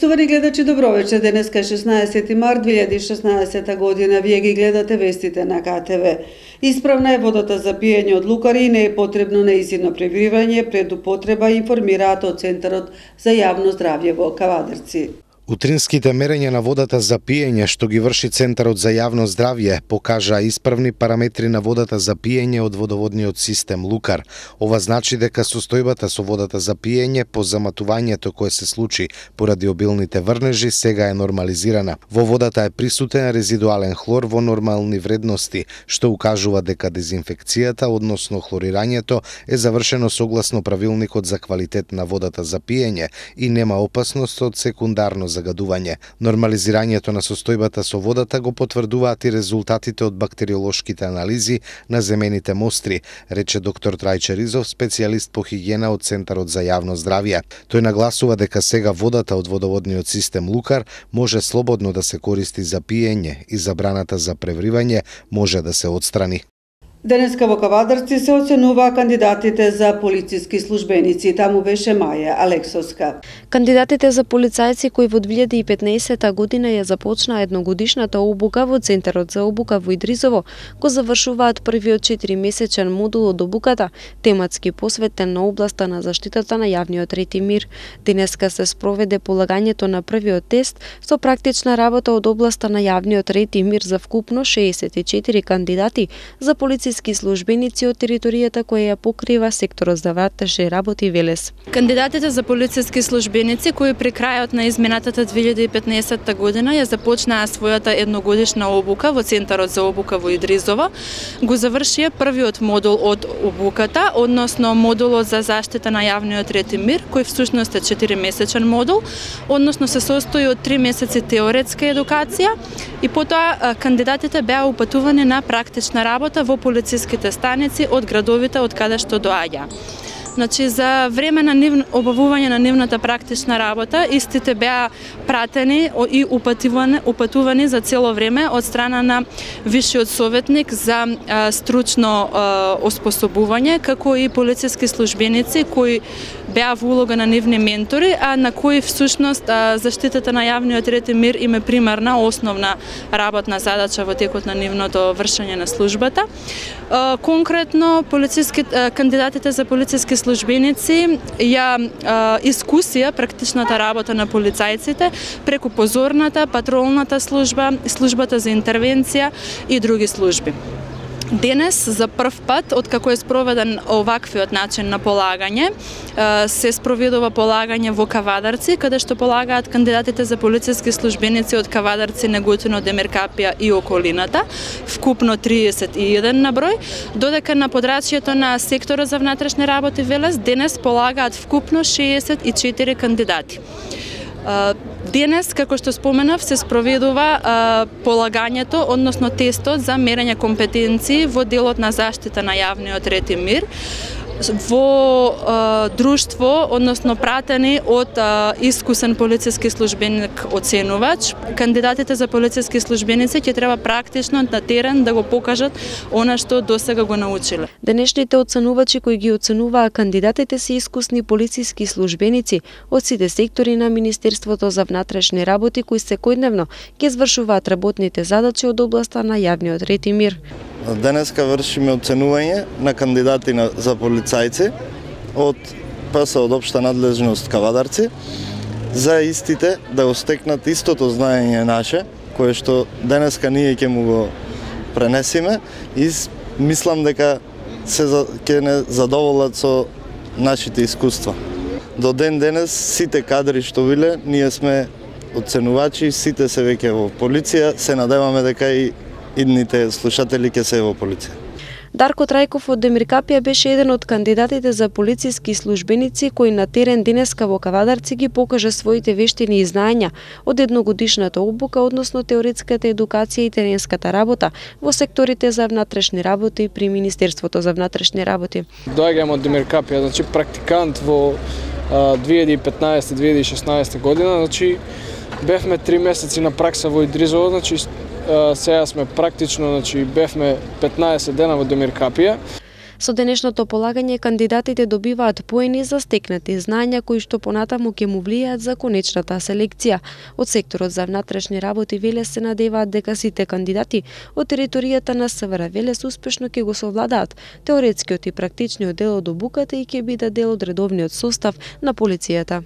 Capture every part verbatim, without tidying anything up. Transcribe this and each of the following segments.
Почитувани гледачи, добро вечер. Денеска е шеснаесети март две илјади и шеснаесета година. Вие ги гледате вестите на К Т В. Исправна е водата за пиење од Лукар и не е потребно неизидно пребивање пред употреба, информираат од Центарот за јавно здравје во Кавадарци. Утринските мерења на водата за пиење што ги врши Центарот за јавно здравје покажа исправни параметри на водата за пиење од водоводниот систем Лукар. Ова значи дека состојбата со водата за пиење по заматувањето кое се случи поради обилните врнежи сега е нормализирана. Во водата е присутен резидуален хлор во нормални вредности, што укажува дека дезинфекцијата, односно хлорирањето, е завршено согласно правилникот за квалитет на водата за пиење и нема опасност од секундарно загадување. Нормализирањето на состојбата со водата го потврдуваат и резултатите од бактериолошките анализи на земените мостри, рече доктор Трајче Ризов, специјалист по хигиена од Центарот за јавно здравје. Тој нагласува дека сега водата од водоводниот систем Лукар може слободно да се користи за пиење и забраната за превривање може да се отстрани. Денеска во Кавадарци се оценуваа кандидатите за полициски службеници. Таму беше Маја Алексовска. Кандидатите за полицајци кои во две илјади и петнаесета година ја започнаа едногодишната обука во Центарот за обука во Идризово, го завршуваат првиот четиримесечен модул од обуката, тематски посветен на областа на заштитата на јавниот ред и мир. Денеска се спроведе полагањето на првиот тест со практична работа од областа на јавниот ред и мир за вкупно шеесет и четири кандидати за полициските службеници од територијата која ја покрива секторот за внатрешни работи Велес. Кандидатите за полициски службеници кои при крајот на изминатата две илјади и петнаесета година ја започнаа својата едногодишна обука во Центарот за обука во Идризово, го завршија првиот модул од обуката, односно модулот за заштита на јавниот ред и мир, кој всушност е четиримесечен модул, односно се состои од три месеци теоретска едукација и потоа кандидатите беа упатувани на практична работа во полициските станици од градовите од каде што доаѓа. Значи, за време на нив, обавување на нивната практична работа, истите беа пратени и упатувани, упатувани за цело време од страна на висшиот советник за а, стручно а, оспособување, како и полициски службеници кои беа во улога на нивни ментори, а на кои всушност а, заштитата на јавниот ред и мир им е примарна, основна работна задача во текот на нивното вршење на службата. А, конкретно, полициски, а, кандидатите за полициски службеници ја а, искусија практичната работа на полицајците преку позорната, патролната служба, службата за интервенција и други служби. Денес, за прв пат, откако е спроведен оваквиот начин на полагање, се спроведува полагање во Кавадарци, каде што полагаат кандидатите за полициски службеници од Кавадарци, Неготино, Демиркапија и околината, вкупно триесет и еден на број, додека на подрачјето на секторот за внатрешни работи Велес денес полагаат вкупно шеесет и четири кандидати. Денес, како што споменав, се спроведува а, полагањето, односно тестот за мерење компетенции во делот на заштита на јавниот ред и мир во а, друштво, односно пратени од а, искусен полициски службеник оценувач. Кандидатите за полициски службеници ќе треба практично на терен да го покажат она што досега го научиле. Денешните оценувачи кои ги оценуваа кандидатите се искусни полициски службеници од сите сектори на Министерството за внатрешни работи кои секојдневно ќе извршуваат работните задачи од областа на јавниот ред и мир. Денеска вршиме оценување на кандидати на, за полицајци од П С од општа надлежност Кавадарци за истите да остекнат истото знаење наше, кое што денеска ние ќе му го пренесиме и мислам дека се ќе не задоволат со нашите искуства. До ден денес сите кадри што биле, ние сме оценувачи, сите се веќе во полиција, се надеваме дека и идните слушатели ќе се во полиција. Дарко Трајков од Демиркапија беше еден од кандидатите за полициски службеници кој на терен денеска во Кавадарци ги покажа своите вештини и знаења од едногодишната обука, односно теоретската едукација и теренската работа во секторите за внатрешни работи при Министерството за внатрешни работи. Доаѓам од Демиркапија, значи практикант во две илјади и петнаесета - две илјади и шеснаесета година, значи бевме три месеци на пракса во Идризово, значи сега сме практично, значи бевме петнаесет дена во Демиркапија. Со денешното полагање кандидатите добиваат поени за стекнати знања кои што понатаму ќе му влијаат за конечната селекција. Од секторот за внатрешни работи Велес се надеваат дека сите кандидати од територијата на СВР Велес успешно ќе го совладаат теоретскиот и практичниот дел од обуката и ќе бидат дел од редовниот состав на полицијата.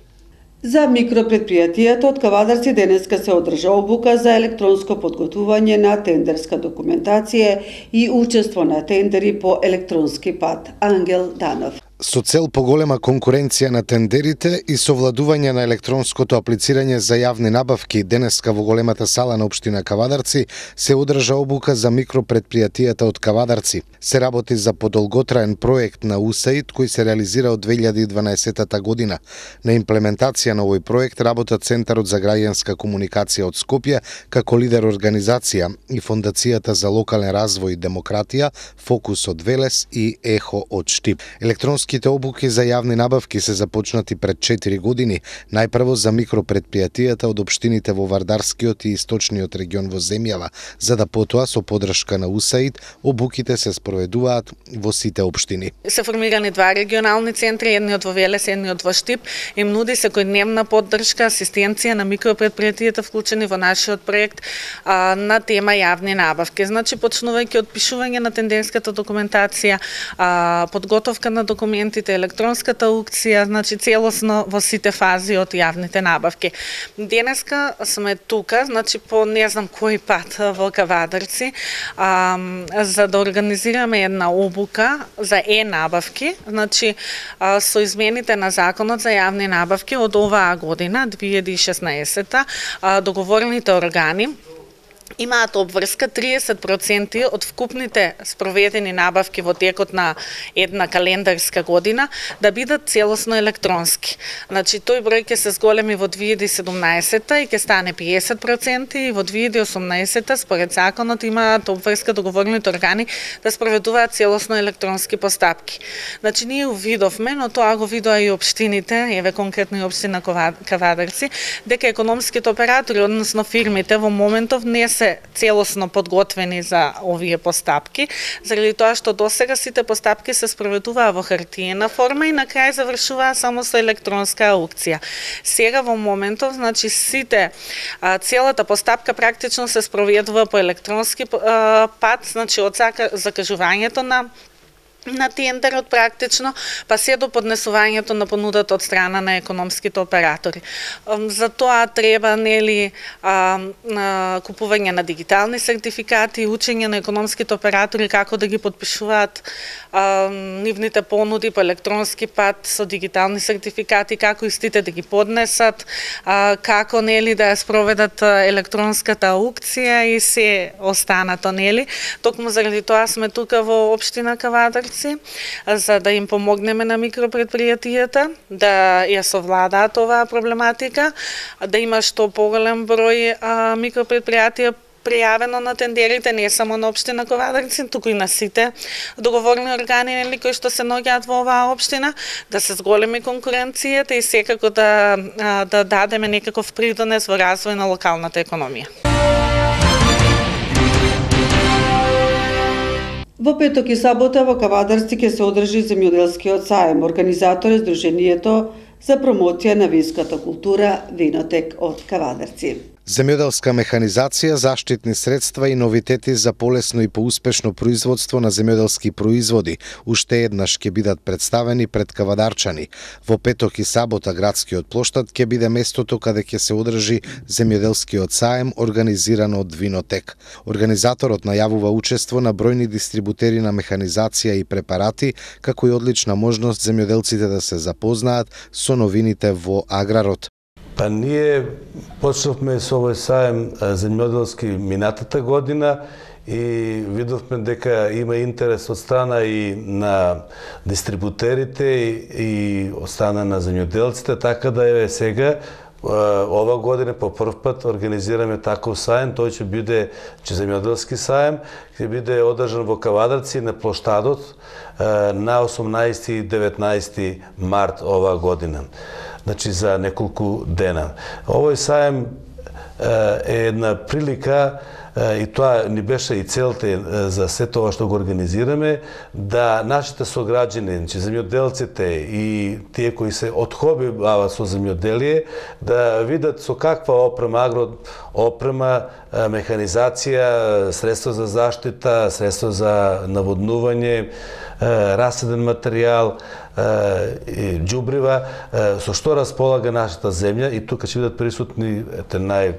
За микропредпријатијата од Кавадарци денеска се одржа обука за електронско подготвување на тендерска документација и учество на тендери по електронски пат. Ангел Данов. Со цел поголема конкуренција на тендерите и совладување на електронското аплицирање за јавни набавки, денеска во големата сала на општина Кавадарци се одржа обука за микропредпријатијата од Кавадарци. Се работи за подолготраен проект на ю ес ей ид кој се реализира од две илјади и дванаесетта година. На имплементација на овој проект работат Центарот за граѓанска комуникација од Скопје како лидер организација и Фондацијата за локален развој и демократија, Фокус од Велес и Ехо од Штип. Електронски Електронските обуки за јавни набавки се започнати пред четири години, најпрво за микропредпријатијата од општините во Вардарскиот и Источниот регион во земјава, за да потоа со поддршка на ю ес ей ид обуките се спроведуваат во сите општини. Се формирани два регионални центри, едниот во Велес, едниот во Штип, им нуди секојдневна поддршка, асистенција на микропредпријатијата вклучени во нашиот проект а, на тема јавни набавки. Значи, почнувајќи од пишување на тендерската документација, а, подготовка на документите, електронската аукција, значи целосно во сите фази од јавните набавки. Денеска сме тука, значи по не знам кој пат во Кавадарци, а, за да организираме една обука за е-набавки, значи а, со измените на Законот за јавни набавки од оваа година, две илјади и шеснаесетта, а, договорните органи имаат обврска триесет проценти од вкупните спроведени набавки во текот на една календарска година да бидат целосно електронски. Значи, тој број ќе се зголеми во две илјади и седумнаесетта и ќе стане песет проценти и во две илјади и осумнаесетта според законот имаат обврска договорните органи да спроведуваат целосно електронски постапки. Значи, ние увидовме, но тоа го видоа и општините, еве конкретно и општина Кавадарци, дека економските оператори, односно фирмите во моментов не се целосно подготвени за овие постапки, заради тоа што досега сите постапки се спроведуваа во хартиена форма и на крај завршуваа само со електронска аукција. Сега во моментов, значи сите целата постапка практично се спроведува по електронски пат, значи од закажувањето на на тендерот практично, па се до поднесувањето на понудата од страна на економските оператори. За тоа треба нели а, а, купување на дигитални сертификати, учење на економските оператори како да ги подпишуваат а, нивните понуди по електронски пат со дигитални сертификати, како истите да ги поднесат, а, како нели да ја спроведат електронската аукција и се останато нели. Токму заради тоа сме тука во општина Кавадарци, за да им помогнеме на микропредпријатијата да ја совладаат оваа проблематика, да има што поголем број а, микропредпријатија пријавено на тендерите не само на општина Кавадарци, туку и на сите договорни органи нели кои што се наоѓаат во оваа општина, да се зголеми конкуренцијата и секако да да дадеме некаков придонес во развој на локалната економија. Во петок и сабота во Кавадарци ќе се одржи земјоделскиот саем. Организатор е Сдруженијето за промоција на винската култура Винотек од Кавадарци. Земјоделска механизација, заштитни средства и новитети за полесно и поуспешно производство на земјоделски производи уште еднаш ќе бидат представени пред кавадарчани. Во петок и сабота градскиот плоштад ќе биде местото каде ќе се одржи земјоделскиот саем организиран од Винотек. Организаторот најавува учество на бројни дистрибутери на механизација и препарати, како и одлична можност земјоделците да се запознаат со новините во аграрот. Па ние почнавме со овој саем земјоделски минатата година и видовме дека има интерес од страна и на дистрибутерите и од страна на земјоделците, така да еве сега ова година по прв пат организираме таков саем. Тој ќе биде че земјоделски саем, ќе биде одржан во Кавадарци на плоштадот на осумнаесети и деветнаесети март ова година. Значи за неколку дена. Овој саем е една прилика и тоа ни беше и целта за се тоа што го организираме, да нашите сограѓани, значи земјоделците и тие кои се од хоби бават со земјоделие, да видат со каква опрема, агро опрема, механизација, средства за заштита, средства за наводнување, раседен материјал, џубрива, со што располага нашата земја, и тука ќе бидат присутни ете нај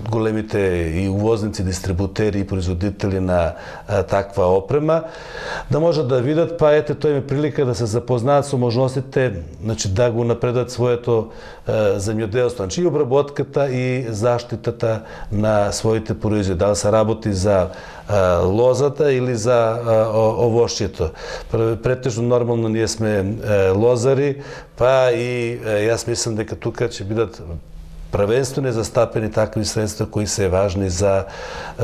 големите и увозници, дистрибутери и производители на а, таква опрема, да можат да видат, па ете тоа им е прилика да се запознаат со можностите, значи да го напредат своето а, земјоделство, значи и обработката и заштитата на своите производи, да се работи за а, лозата или за а, овошјето. Претежно нормално ние сме а, лозари, па и а, јас мислам дека тука ќе бидат првенствено застапени такви средства кои се важни за е,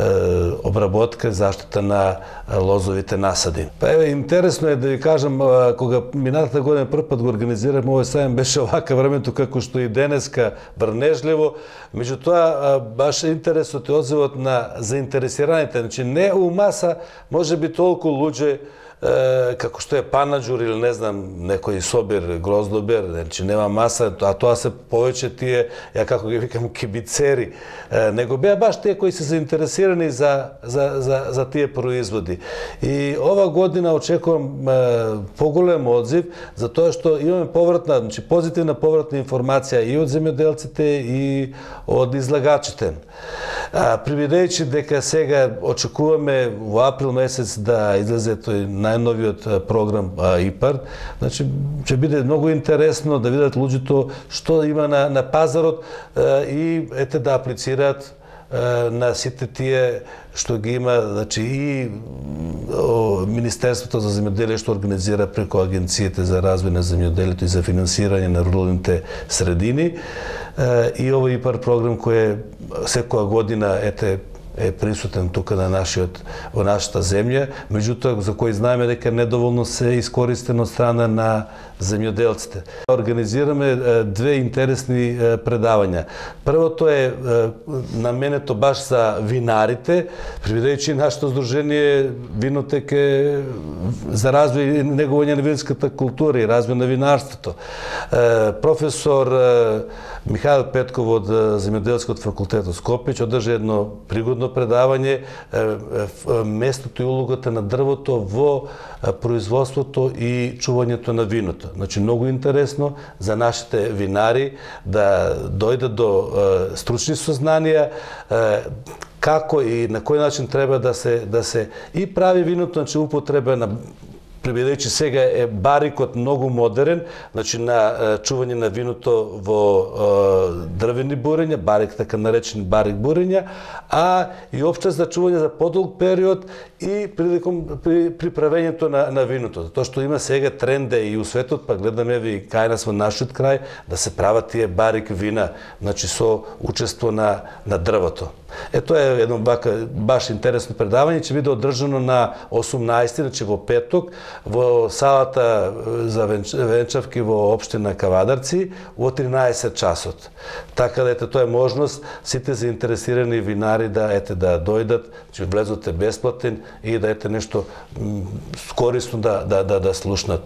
обработка, заштита на лозовите насади. Па еве, интересно е да ви кажам, кога минатата година прв пат го организираме овој сајм, беше овака времето како што и денеска врнежливо, меѓутоа баш интересот и одзивот на заинтересираните, значи не у маса, може би толку луѓе како што е панаџур или не знам некој собир, гроздобер, значи нема маса, а тоа се повеќе тие, ја како ги викам, кибицери, него беа баш тие кои се заинтересирани за за за за тие производи. И ова година очекувам поголем одзив, затоа што имаме повратна, значи позитивна повратна информација и од земјоделците и од излагачите. Привидејќи дека сега очекуваме во април месец да излезе тој најновиот програм ИПАРД, значи ќе биде многу интересно да видат луѓето што има на, на пазарот и ете да аплицираат на сите тие што ги има, значи и Министерството за земјоделие што организира преку агенциите за развој на земјоделието и за финансирање на руралните средини, и овој ИПАРД програм кој е секоја година ете е присутен тука на нашиот во нашата земја, меѓутоа за кој знаеме дека недоволно се искористен од страна на земјоделците. Организираме две интересни предавања. Првото е наменето баш за винарите, привидејќи нашето здружение Винотек е за развој и негување на винската култура и развој на винарството. Професор Михаил Петков од Земјоделскиот факултет од Скопје ќе одржи едно пригодно предавање местото и улогата на дрвото во производството и чувањето на виното. Значи многу интересно за нашите винари да дојдат до стручни сознанија како и на кој начин треба да се да се и прави виното, значи употреба на Приведејќи сега е барикот многу модерен, значи на чување на виното во дрвени бурења, барик така наречени барик бурења, а и опште за чување за подолг период и приликом при, при правењето на, на виното. Затоа што има сега тренде и у светот, па гледаме ви кај нас во нашиот крај, да се прават тие барик вина, значи со учество на, на дрвото. Е, тоа е едно бака, баш интересно предавање, ќе биде одржано на осумнаесети, значи во петок, во салата за венчавки во општина Кавадарци во тринаесет часот. Така да ете тоа е можност сите заинтересирани винари да ете да дојдат, че влезот е бесплатен и да ете нешто корисно да да да, да слушнат.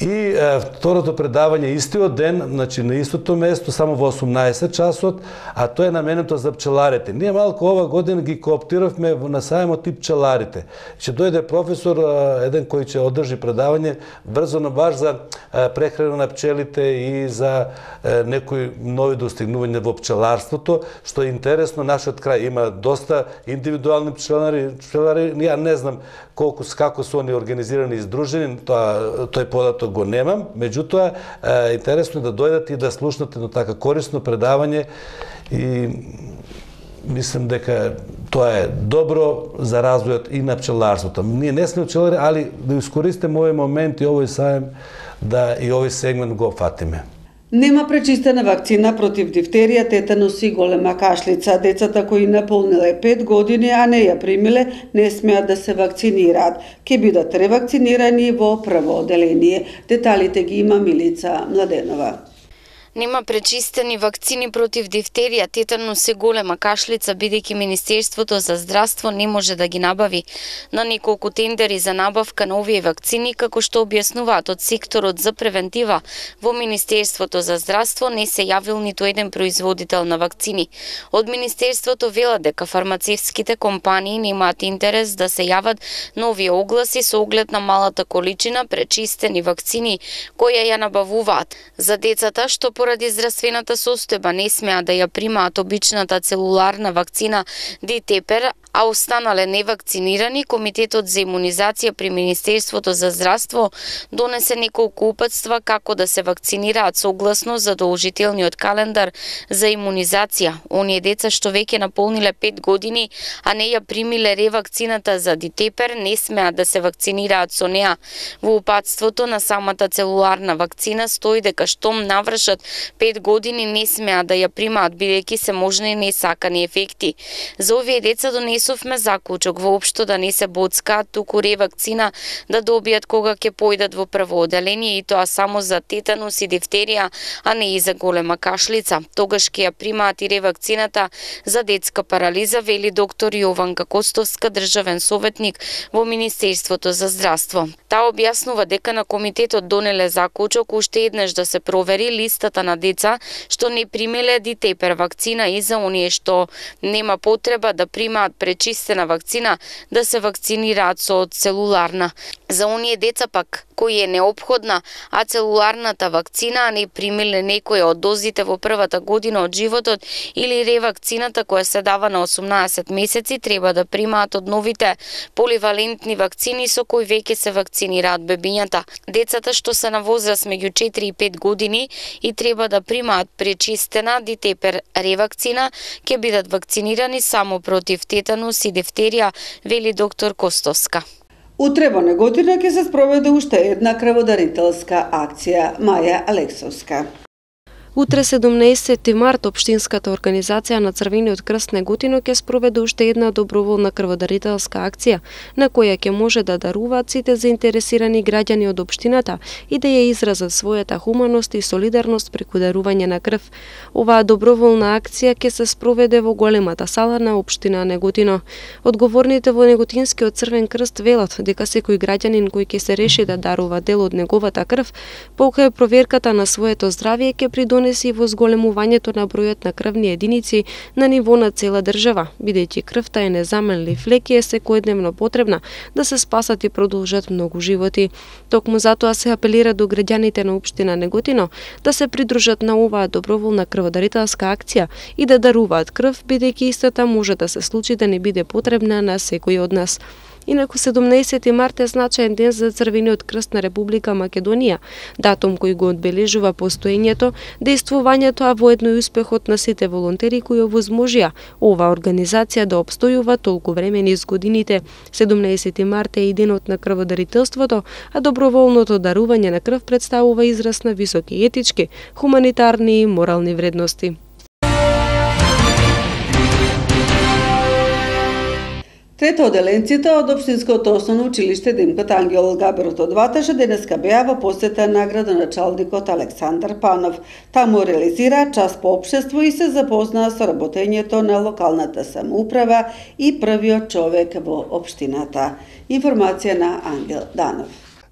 И е, второто предавање истиот ден, значи на истото место, само во осумнаесет часот, а тоа е наменето за пчеларите. Ние малку ова година ги кооптиравме на сајмот и пчеларите. Ќе дојде професор еден кој ќе одржи предавање брзо на баш за прехрана на пчелите и за некои нови достигнувања во пчеларството, што е интересно. Нашиот крај има доста индивидуални пчелари, пчелари, ја не знам колку како се они организирани и здружени, тоа тој податок го немам, меѓутоа интересно е да дојдат и да слушнат едно така корисно предавање и мислам дека тоа е добро за развојот и на пчеларството. Ние не сме пчелари, али да искористиме овој момент и овој сајм да и овој сегмент го фатиме. Нема пречистена вакцина против дифтерија, тетанус и голема кашлица. Децата кои наполниле пет години, а не ја примиле, не смеат да се вакцинираат. Ке бидат ревакцинирани во прво оделение. Деталите ги има Милица Младенова. Нема пречистени вакцини против дифтерија, тетанус и голема кашлица, бидејќи Министерството за здравство не може да ги набави. На неколку тендери за набавка на овие вакцини, како што објаснуваат од секторот за превентива, во Министерството за здравство не се јавил ниту еден производител на вакцини. Од Министерството велат дека фармацевтските компании немаат интерес да се јават на овие огласи со оглед на малата количина пречистени вакцини која ја набавуваат. За децата што поради здравствената состојба не смеа да ја примаат обичната целуларна вакцина Дитепер, а останале невакцинирани, Комитетот за имунизација при Министерството за здравство донесе неколку упатства како да се вакцинираат согласно задолжителниот календар за имунизација. Оние деца што веќе наполниле пет години, а не ја примиле ревакцината за Дитепер, не смеат да се вакцинираат со неа. Во упатството на самата целуларна вакцина стои дека штом навршат пет години не смеат да ја примаат, бидејќи се можни несакани ефекти. За овие деца донесовме заклучок воопшто да не се боцкаат, туку ревакцина да добијат кога ќе појдат во прво оделение, и тоа само за тетанус и дифтерија, а не и за голема кашлица. Тогаш ќе ја примаат и ревакцината за детска парализа, вели доктор Јованка Костовска, државен советник во Министерството за здравство. Таа објаснува дека на комитетот донеле заклучок уште еднаш да се провери листата на деца што не примиле Дитепер вакцина и за оние што нема потреба да примаат пречистена вакцина да се вакцинираат со целуларна. За оние деца пак кои е неопходна, а целуларната вакцина не примиле некоја од дозите во првата година од животот или ревакцината која се дава на осумнаесет месеци, треба да примаат од новите поливалентни вакцини со кои веќе се вакцинираат бебињата. Децата што се на возраст меѓу четири и пет години и треба да примаат пречистена Дитепер ревакцина, ќе бидат вакцинирани само против тетанус и дифтерија, вели доктор Костовска. Утре во Неготино ќе се спроведе уште една крводарителска акција. Маја Алексовска. Утре седумнаесети март Општинската организација на Црвениот крст Неготино ќе спроведе уште една доброволна крводарителска акција, на која ќе може да даруваат сите заинтересирани граѓани од општината и да ја изразат својата хуманост и солидарност преку дарување на крв. Оваа доброволна акција ќе се спроведе во големата сала на општина Неготино. Одговорните во Неготинскиот Црвен крст велат дека секој граѓанин кој ќе се реши да дарува дел од неговата крв, покрај проверката на своето здравје ќе придонесе и во зголемувањето на бројот на крвни единици на ниво на цела држава, бидејќи крвта е незаменлив лек и е секојдневно потребна да се спасат и продолжат многу животи. Токму затоа се апелира до граѓаните на општина Неготино да се придружат на оваа доброволна крводарителска акција и да даруваат крв, бидејќи истата може да се случи да не биде потребна на секој од нас. Инаку седумнаесети март е значаен ден за Црвениот крст на Република Македонија, датум кој го одбележува постоењето, действувањето, а воедно и успехот на сите волонтери кои овозможија оваа организација да обстојува толку време низ годините. седумнаесети март е и денот на крводарителството, а доброволното дарување на крв представува израз на високи етички, хуманитарни и морални вредности. Третооделенците од Општинското основно училиште Димката Ангел Габерот од Ваташа денеска беа во посета на градоначалникот Александар Панов. Таму реализира час по општество и се запознаа со работењето на локалната самоуправа и првиот човек во општината. Информација на Ангел Данов.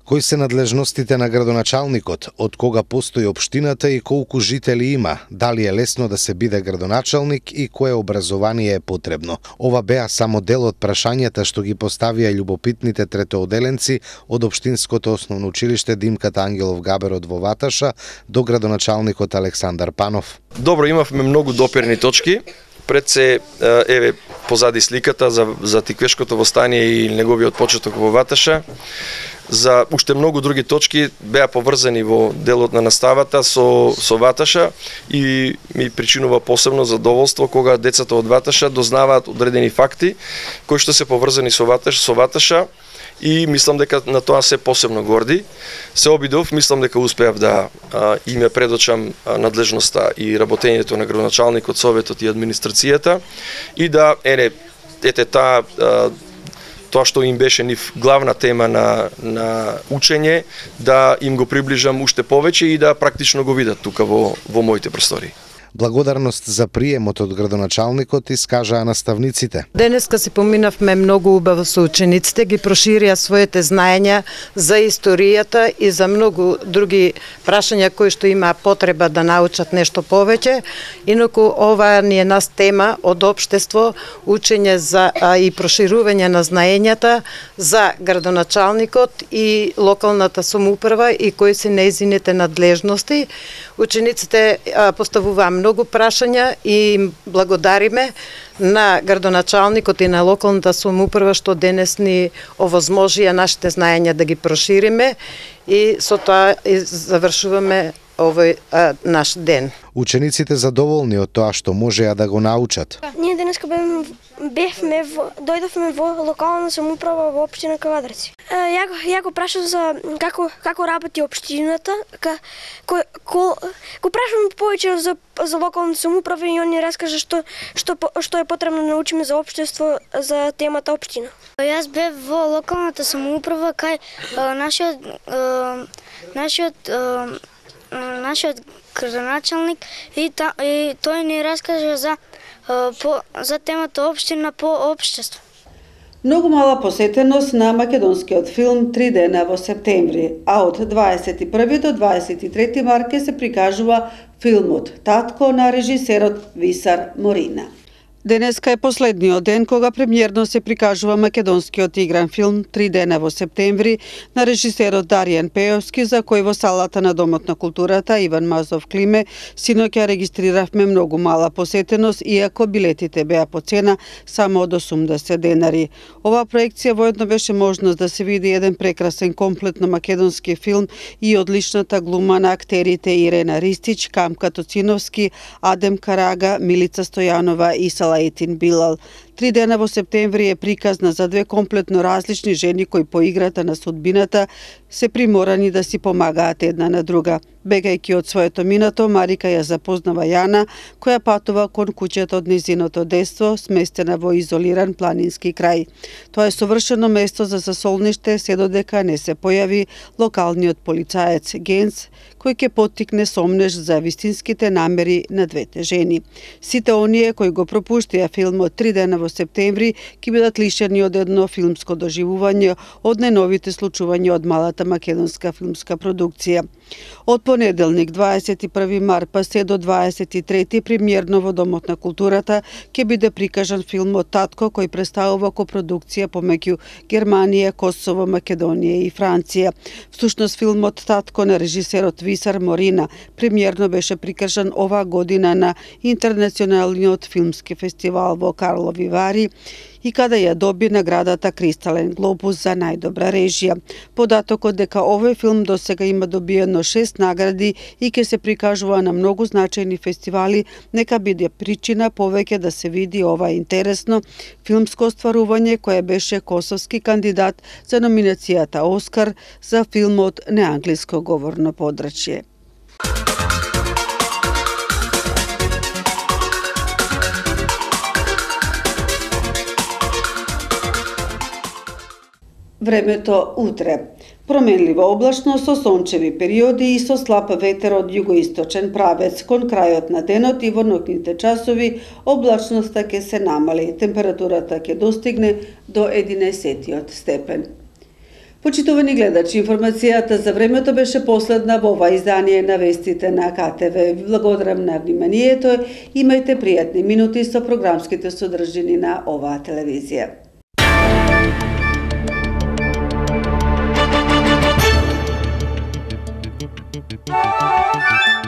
Кои се надлежностите на градоначалникот, од кога постои општината и колку жители има, дали е лесно да се биде градоначалник и кое образование е потребно. Ова беа само дел од прашањата што ги поставија љубопитните третооделенци од Општинското основно училиште Димката Ангелов Габерот во Ваташа до градоначалникот Александар Панов. Добро, имавме многу допирни точки. Пред се, еве, позади сликата за, за Тиквешкото востание и неговиот почеток во Ваташа. За уште многу други точки беа поврзани во делот на наставата со, со Ваташа и ми причинува посебно задоволство кога децата од Ваташа дознаваат одредени факти кои што се поврзани со Ваташа, со Ваташа и мислам дека на тоа се посебно горди. Се обидов, мислам дека успеав да а, име предочам а, надлежноста и работењето на градоначалникот, советот и администрацијата и да ене ете таа тоа што им беше нив главна тема на, на учење, да им го приближам уште повеќе и да практично го видат тука во, во моите простори. Благодарност за приемот од градоначалникот искажаа наставниците. Денеска си поминавме многу убаво со учениците, ги проширија своите знаења за историјата и за многу други прашања кои што имаа потреба да научат нешто повеќе. Инаку ова ни е нас тема од општество, учење за а, и проширување на знаењата за градоначалникот и локалната самоуправа и кои се нејзините надлежности. Учениците а, поставуваа многу прашања и им благодариме на градоначалникот и на локалната самоуправа што денес ни овозможија нашите знаења да ги прошириме и со тоа завршуваме овој а, наш ден. Учениците задоволни од тоа што можеа да го научат. Ние денеска бевме, бевме во, дојдовме во локална самоуправа во општина Кавадарци. Ја, ја го прашав за како како работи општината, ка, ко, ко, го прашам повеќе за за локална самоуправа и он ни раскажа што што што е потребно да научиме за општество за темата општина. Јас бев во локалната самоуправа кај нашиот нашиот нашиот градоначалник и, та, и тој ни раскажа за по, за темата општина по општество. Многу мала посетеност на македонскиот филм Три дена во септември, а од дваесет и први до дваесет и трети март ќе се прикажува филмот Татко на режисерот Висар Морина. Денеска е последниот ден кога премиерно се прикажува македонскиот игран филм Три дена во септември на режисерот Даријан Пејовски, за кој во салата на Домот на културата Иван Мазов Климе синоќа регистриравме многу мала посетеност, иако билетите беа по цена само од осумдесет денари. Оваа проекција воедно беше можност да се види еден прекрасен комплет на македонски филм и одличната глума на актерите Ирена Ристич, Камка Тоциновски, Адем Карага, Милица Стојанова и Сала Етин Билал. Три дена во септември е приказна за две комплетно различни жени кои по играта на судбината се приморани да си помагаат една на друга. Бегајќи од своето минато, Марика ја запознава Јана, која патува кон куќето од незиното детство, сместена во изолиран планински крај. Тоа е совршено место за засолниште, се додека не се појави локалниот полицаец Генц, кој ќе поттикне сомнеш за вистинските намери на двете жени. Сите оние кои го пропуштија филмот Три дена во септември ќе бидат лишени од едно филмско доживување од најновите случувања од малата македонска филмска продукција. Од понеделник дваесет и први март па се до дваесет и трети премиерно во Домот на културата ќе биде прикажан филмот Татко, кој представува копродукција помеѓу Германија, Косово, Македонија и Франција. Всушност филмот Татко на режисерот Висар Морина премиерно беше прикажан оваа година на Интернационалниот филмски фестивал во Карлови Вари и каде ја доби наградата Кристален глобус за најдобра режија. Податокот дека овој филм досега има добиено шест награди и ќе се прикажува на многу значајни фестивали, нека биде причина повеќе да се види ова интересно филмско остварување кое беше косовски кандидат за номинацијата Оскар за филмот Неанглиско говорно подрачје. Времето утре. Променлива облачност со сончеви периоди и со слаб ветер од југоисточен правец. Кон крајот на денот и во ноќните часови облачноста ќе се намали. Температурата ќе достигне до единаесет степен. Почитувани гледачи, информацијата за времето беше последна во ова издание на вестите на К Т В. Ви благодарам на вниманието. Имајте пријатни минути со програмските содржини на оваа телевизија. Thank you.